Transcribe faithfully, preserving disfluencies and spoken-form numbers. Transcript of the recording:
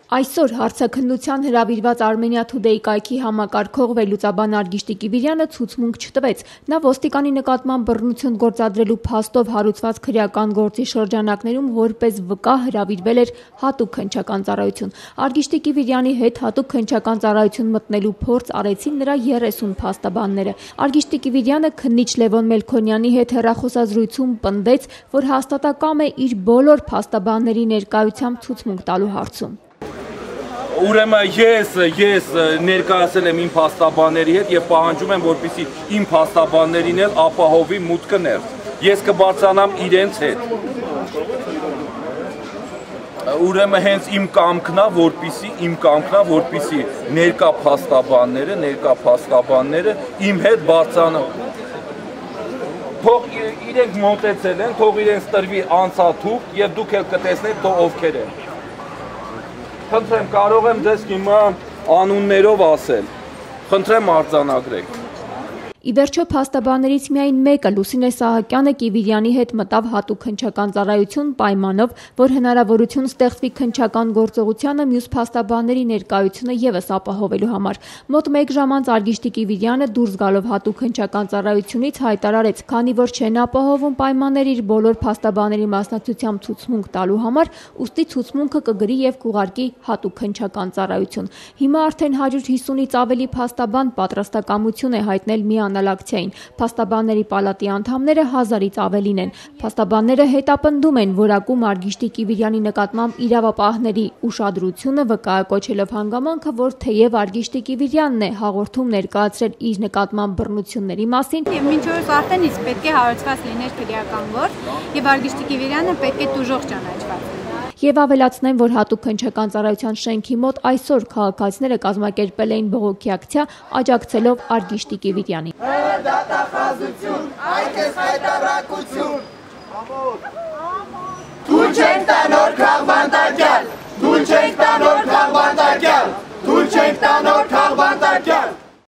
Այսօր հարցաքննության հրավիրված Armenia Today կայքի համակարգող վերլուծաբան Արգիշտի Կիվիրյանը ցուցմունք չտվեց։ Նա ոստիկանի նկատմամբ բռնություն գործադրելու փաստով հարուցված քրեական գործի շրջանակներում որպես վկա հրավիրվել էր հատուկ քննչական ծառայություն։ Արգիշտի Կիվիրյանի հետ հատուկ քննչական ծառայություն մտնելու փորձ արեցին նրա երեսուն փաստաբանները։ Արգիշտի Կիվիրյանը քննիչ Լևոն Մելքոնյանի հետ հեռախոսազրույցում պնդեց, որ հաստատակամ է իր բոլոր փաստաբանների ներկայությամբ ցուցմունք տալու հարցում։ Ուրեմն ես ես ներկայացել եմ իմ փաստաբանների հետ եւ պահանջում եմ, որպեսզի իմ փաստաբաններին էլ ապահովի մուտքը ներս։ Ես կբարձրանամ իրենց հետ։ Ուրեմն հենց իմ կամքն է, որպեսզի իմ կամքն է, որպեսզի ներկա փաստաբանները, ներկա փաստաբանները իմ հետ բարձրանան։ Թող իրենք մոտեցել են, թող իրենց տրվի անցաթուղթ եւ դուք էլ կտեսնեք թող ովքեր են։ Խնդրեմ, կարող եմ ձեզ հիմա անուններով ասել, խնդրեմ արձանագրեք։ Ի վերջո փաստաբաններից միայն մեկը Լուսինե Սահակյանը Կիվիրյանի հետ մտավ հատուկ քննչական ծառայություն պայմանով, որ հնարավորություն ստեղծվի քննչական գործողությանը մյուս փաստաբանների ներկայությունը ևս ապահովելու համար։ Մոտ մեկ ժամ անց Արգիշտի Կիվիրյանը դուրս գալով հատուկ քննչական ծառայությունից հայտարարեց, քանի որ չեն ապահովում պայմաններ իր բոլոր փաստաբանների մասնակցությամբ ցուցմունք տալու համար, ուստի ցուցմունքը կգրի եւ կուղարկի հատուկ քննչական ծառայություն։ Հիմա արդեն հարյուր հիսունից ավելի փաստաբան պատրաստակամություն է հայտնել միանալ Փաստաբանների պալատի անդամները հազարից ավելին են։ Փաստաբանները հետապնդում են որակում Արգիշտի Կիվիրյանի նկատմամբ իրավապահների ուշադրությունը վկայակոչելով հանգամանքը, որ թեև Արգիշտի Կիվիրյանն է հաղորդում ներկայացրել իր նկատմամբ բռնությունների մասին, եւ մինչ օրս արդեն իսկ պետք է հարուցված լիներ քրեական գործ, եւ Արգիշտի Կիվիրյանը պետք է տուժող ճանաչված։ Եվ ավելացնեմ, որ հատուկ քննչական ծառայության շենքի մոտ այսօր քաղաքացիները կազմակերպել էին բողոքի ակցիա, աջակցելով Արգիշտի Կիվիրյանին։ Դատախազություն, այդպես հայտարարություն։ Դու չեն տա նոր քաղաքվան